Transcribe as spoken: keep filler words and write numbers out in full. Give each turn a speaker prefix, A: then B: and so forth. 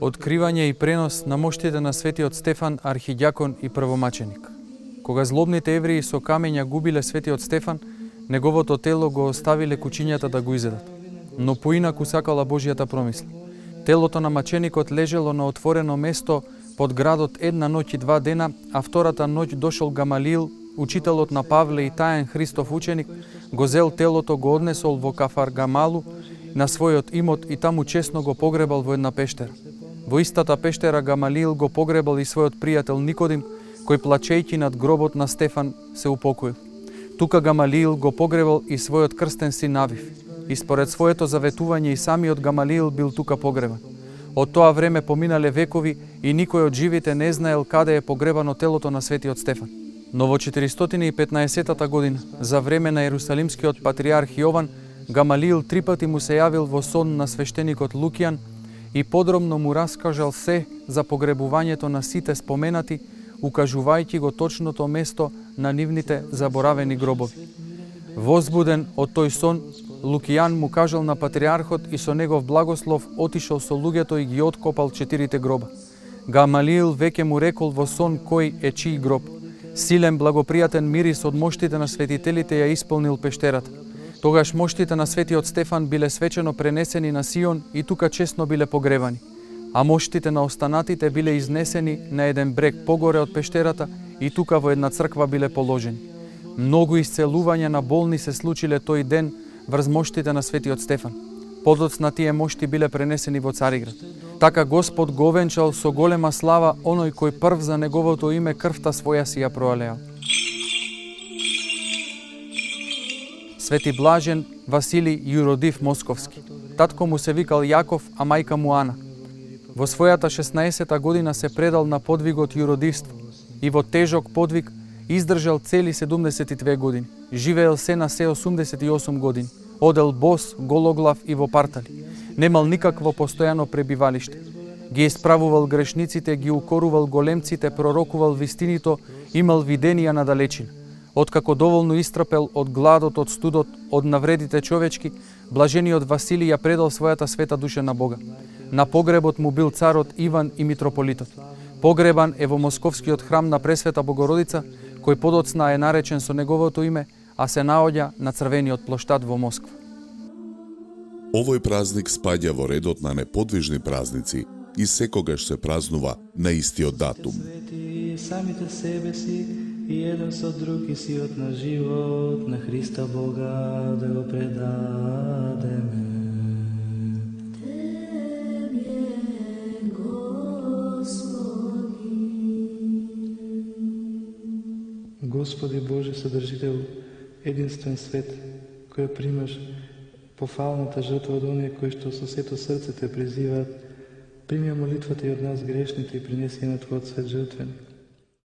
A: Откривање и пренос на моштите на светиот Стефан, архидјакон и првомаченик. Кога злобните евреи со камења губиле светиот Стефан, неговото тело го оставиле кучињата да го изедат. Но поинаку сакала Божјата промисла. Телото на маченикот лежело на отворено место под градот една ноќ и два дена, а втората ноќ дошол Гамалиил, учителот на Павле и таен Христов ученик, го зел телото, го однесол во Кафаргамалу на својот имот и таму честно го погребал во една пештера. Во истата пештера Гамалиил го погребал и својот пријател Никодим, кој плачејќи над гробот на Стефан се упокоил. Тука Гамалиил го погребал и својот крстен син Авив. И според своето заветување и самиот Гамалиил бил тука погребан. Од тоа време поминале векови и никој од живите не знаел каде е погребано телото на светиот Стефан. Но во четиристотини и петнаесеттата година, за време на Ерусалимскиот патриарх Јован, Гамалиил три пати му се јавил во сон на свештеникот Лукијан и подробно му раскажал се за погребувањето на сите споменати, укажувајќи го точното место на нивните заборавени гробови. Возбуден од тој сон, Лукијан му кажал на патриархот и со негов благослов отишол со луѓето и ги откопал четирите гроба. Гамалиил веќе му рекол во сон кој е чиј гроб. Силен благопријатен мирис од моштите на светителите ја исполнил пештерата. Тогаш моштите на светиот Стефан биле свечено пренесени на Сион и тука честно биле погребани, а моштите на останатите биле изнесени на еден брег погоре од пештерата и тука во една црква биле положени. Многу исцелувања на болни се случиле тој ден врз моштите на светиот Стефан. Подоцна тие мошти биле пренесени во Цариград. Така Господ го венчал со голема слава оној кој прв за неговото име крвта своја си ја проалеал. Свети блажен Василий Јуродив Московски. Татко му се викал Јаков, а мајка му Ана. Во својата шеснаесета година се предал на подвигот јуродивство и во тежок подвиг издржал цели седумдесет и две години. Живеел се на се осумдесет и осум години. Одел бос, гологлав и во партали. Немал никакво постојано пребивалиште. Ги исправувал грешниците, ги укорувал големците, пророкувал вистинито, имал виденија на далечина. Откако доволно истрпел од гладот, од студот, од навредите човечки, блажениот Василий ја предал својата света душа на Бога. На погребот му бил царот Иван и митрополитот. Погребан е во Московскиот храм на Пресвета Богородица, кој подоцна е наречен со неговото име, а се наоѓа на Црвениот плоштад во Москва.
B: Овој празник спаѓа во редот на неподвижни празници и секогаш се празнува на истиот датум.
C: Самите себе си и еден со друг и сиот на живот на Христа Бога да го предадеме. Господи Боже, Содржител, единствен свет, кој примаш пофалната жртва од оние кои што со сето срце те призиваат, прими молитвата и од нас грешните и принеси на Твојот свет жртвен.